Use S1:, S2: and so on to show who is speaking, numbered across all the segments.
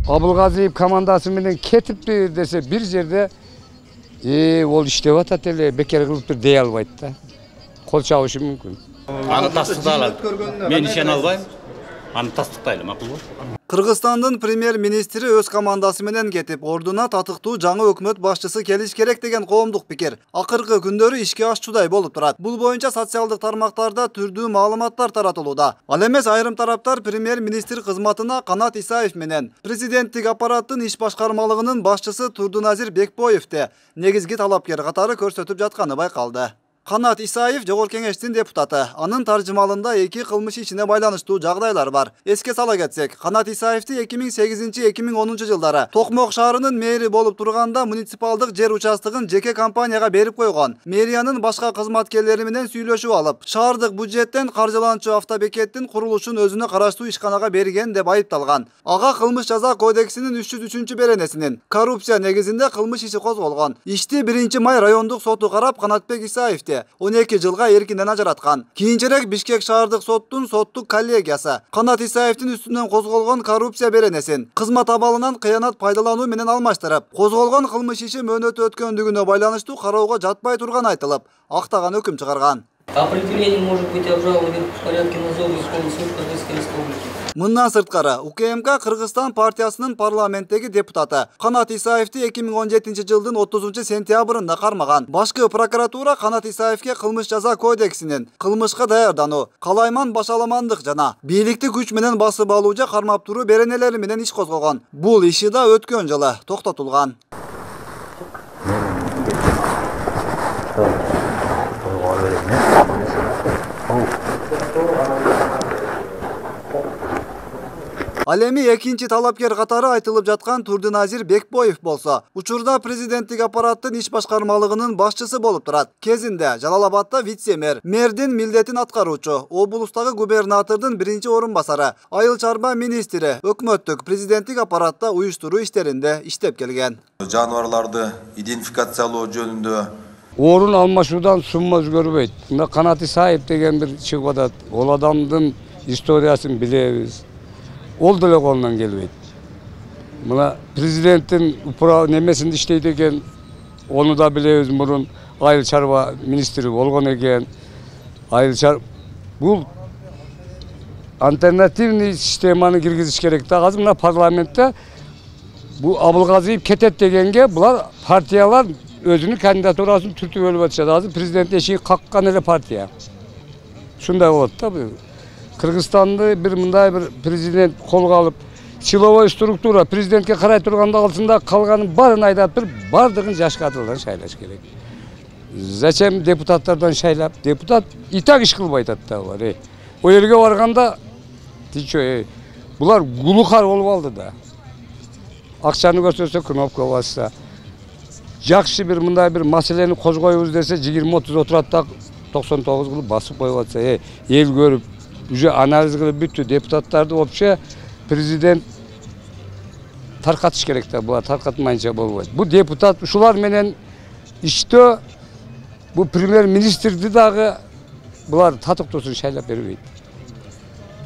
S1: Абылгазиев командасы менен кетипти десе бир жерде ол иштеп атат эле, бекер кылыптыр дей албайт да. Кол чабышы мүмкүн.
S2: Аны тастыктайлы. Мен ишене албайм. Аны тастыктайлы, макулбу?
S3: Кыргызстандын премьер-министри өз командасы менен кетип, ордуна татыктуу жаңы өкмөт башчысы келиш керек деген коомдук пикир акыркы күндөрү ишке ашчудай болуп турат. Бул боюнча социалдык тармактарда түрдүү маалыматтар таратылууда. Ал эмес айрым тараптар премьер-министр кызматына Канат Исаев менен президенттик аппараттын иш башкармалыгынын башчысы Турдуназир Бекбоевди негизги талапкер катары көрсөтүп жатканы байкалды. Канат Исаев Жогорку Кеңештин депутаты. Анын таржымалында эки кылмыш ишине байланыштуу жагдайлар бар. Эске сала кетсек, Канат Исаевди 2008-2010 жылдары Токмок шаарынын мэри болуп турганда муниципалдык жер участогун жеке компанияга берип койгон. Мэриянын башка кызматкерлери менен сүйлөшүп алып, шаардык бюджеттен каржыланчу автобекеттин курулушун өзүнө караштуу ишканага берген деп айыпталган. Ага кылмыш жаза кодексинин 303 беренесинин коррупция негизинде кылмыш иши козголгон. Ишти 1-май райондук соту карап, Канатбек Исаевди 12 жылга эркинден ажыраткан. Кийинчерээк Бишкек шаардык соттун соттук коллегиясы Канат Исаевдин үстүнөн козголгон коррупция беренесин кызмат абалынан кыянат пайдалануу менен алмаштырып, козголгон кылмыш иши мөөнөтү өткөндүгүнө байланыштуу кароого жатпай турган айтылып, актаган өкүм чыгарган.
S4: Определение может быть обжаловано в порядке надзора Верховный суд Кыргызской Республики.
S3: Мындан сырткары, УКМК Кыргызстан партиясынын парламенттеги депутаты Канат Исаевди 2017 жылдын 30 сентябрында кармаган. Башкы прокуратура Канат Исаевге кылмыш жаза кодексинин кылмышка даярдануу, калайман башаламандык жана бийликти күч менен басып алуу же кармап туруу беренелери менен иш козгогон. Бул иши да өткөн жылы токтотулган. Ал эми экинчи талапкер катары айтылып жаткан Турдуназир Бекбоев болсо, учурда президенттик аппараттын иш башкармалыгынын башчысы болуп турат. Кезинде Жалал Абадда вице-мэр, мэрдин милдетин аткаруучу, облустагы губернатордун биринчи орун басары, айыл чарба министри, өкмөттүк президенттик аппаратта уюштуруу иштеринде иштеп келген.
S5: Жаныбарларды идентификациялоо жөнүндө
S1: орун алмашуудан сумма өзгөрбөйт. Мына Канат Исаев деген бир чыгып атат. Ол адамдын историясын билебиз. Ол деле колунан келбейт. Мына президенттин немесинде иштейт экен. Onu da билебиз, мурун айыл чарба министри болгон экен. Бул альтернативный системаны киргизиш керек да. Азыр мына парламентте бул Абылгазиев кетет дегенге булар партиялар өзүнүн кандидатурасын түртүп өлүп атышат. Азыр президент эшиги каккан эле партия. Шундай болот да бул. Кыргызстанды бир мындай бир президент колго алып, силовой структура президентке карай турганда алсында калганын баарын айдап туруп, бардыгын жаш кадрлардан шайлаш керек. Зачем депутаттардан шайлап? Депутат и так иш кылбай атат да булар. О жерге барганда ты чё, булар глухар болуп алды да. Акчаны көрсөтсө кнопка басса. Жакшы бир мындай бир маселени козгойбуз десе 20-30 отурат да 99 кылып басып коюп атса, эл көрүп уже анализ кылып бүттү. Депутаттарды вообще президент таркатыш керек да, булар таркатмайынча болбойт. Бу депутат ушулар менен иштөө бу премьер-министрди дагы булар татыктуусун шайлап бербейт.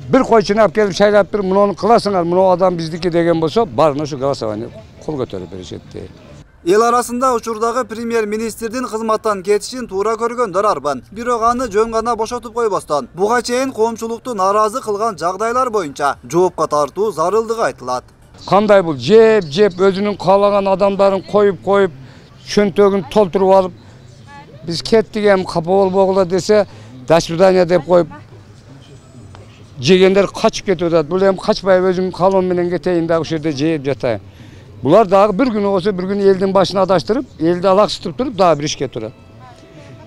S1: Бир койчуну алып келип шайлап бир, муну кыласыңар, муну адам биздики деген болсо, баарына ушу голосование кол көтөрүп беришет.
S3: Эл арасында учурдагы премьер-министрдин кызматтан кетишин туура көргөндөр арбын. Бирок аны жөн гана бошотуп койбостон, буга чейин коомчулукту нааразы кылган жагдайлар боюнча жоопко тартуу зарылдыгы айтылат.
S1: Кандай бул жеп өзүнүн каалаган адамдарын коюп, чөнтөгүн толтуруп алып, биз кеттик эми капа болбогула десе, до свидания деп коюп, жегендер качып кетип атат. Бул эми качпай өзүм калоом менен кетейин да ушул жерде жеп жатайын. Булар дагы бир күнү болсо, бир күнү элдин башына адаштырып, элди алаксытып туруп, дагы бир ишке турат.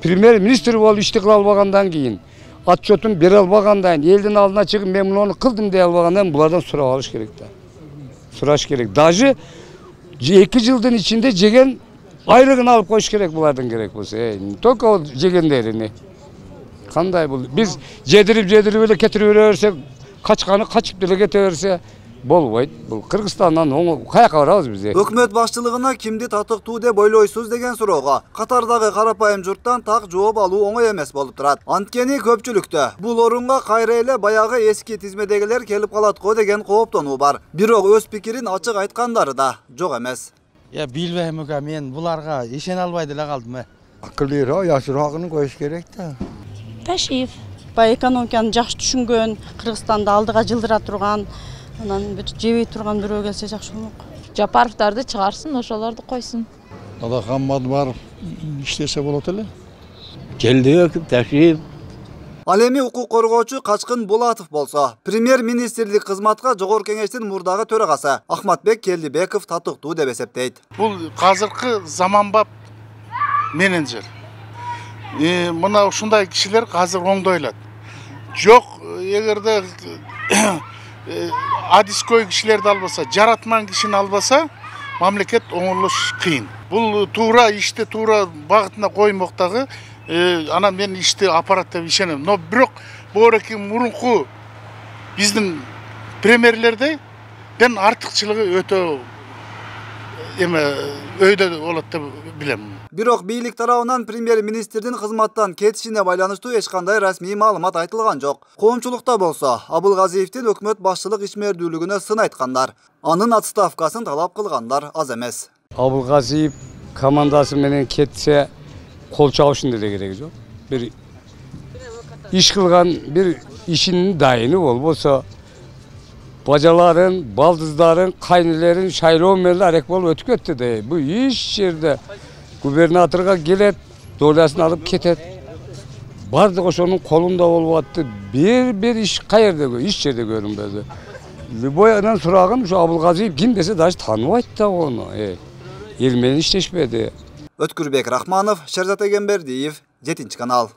S1: Премьер-министр болуп ишти кыла албагандан кийин, отчетун бере албагандан кийин, элдин алдына чыгып, мен муну кылдым дей албагандан булардан сурап алыш керек да. Сураш керек. Даже 2 жылдын ичинде жеген айлыгын алып коюш керек булардын керек болсо. Только ол жегендерини. Кандай бул? Биз жедирип эле кетирип берсек, качканы качып деле кете берсе, болбойт. Бул Кыргызстандан каяка барабыз биз?
S3: Өкмөт башчылыгына кимди татыктуу деп ойлойсуз деген суроого катардагы карапайым журттан так жооп алуу оңой эмес болуп турат. Анткени көпчүлүктө бул орунга кайра эле баягы эски тизмедегилер келип калат го деген кооптонуу бар. Бирок өз пикирин ачык айткандары да жок эмес.
S6: Билбейм экен, мен буларга ишене албай деле калдым.
S7: Акылдыраак, жашыраагын коюш керек да.
S8: Ташиев. Баягы экономиканы жакшы түшүнгөн, Кыргызстанды алдыга жылдыра турган, анан жебей турган бирөө келсе жакшы болмок.
S9: Жапаровдарды чыгарсын, ошолорду койсун.
S7: Алакаммат барып иштесе болот эле.
S2: Келдик, Ташиев.
S3: Ал эми укук коргоочу Качкын Булатов болсо, премьер-министрлик кызматка Жогорку Кеңештин мурдагы төрагасы Ахматбек Келдибеков татыктуу деп эсептейт.
S10: Бул азыркы заманбап менеджер. Мына ушундай кишилер азыр оңдойлат. Жок, эгерде адискөй кишилерди албаса, жаратман кишини албаса, мамлекет оңолуш кыйын. Бул туура ишти туура багытына коймоктагы, анан мен ишти аппарат деп ишенем. Но бирок боореки мурунку биздин премьерлерден артыкчылыгы өтө өйдө болот деп билем.
S3: Бирок бийлик тарабынан премьер-министрдин кызматтан кетишине байланыштуу эч кандай расмий маалымат айтылган жок. Коомчулукта болсо, Абылгазиевдин өкмөт башчылык ишмердүүлүгүнө сын айткандар, анын отставкасын талап кылгандар аз эмес.
S1: Абылгазиев командасы менен кетсе кол чабышын деле кереги жок. Бир иш кылган бир ишинин дайыны болбосо бажаларын, балдыздарын, кайнелерин шайлоо менен арек болуп өтүп кетти да. Бу иш жерде губернаторга келет, долясын алып кетет. Бардыгы ошонун колунда болуп атты. Бир иш каерде, иш жерде көрүнбөдү. Любой анан сураган ушу Абылгазиев ким десе даже тааныбайт да ону. Эл менен иштешпеди.
S3: Өткүрбек Рахманов, Шерзат Эгембердиев, 7 канал.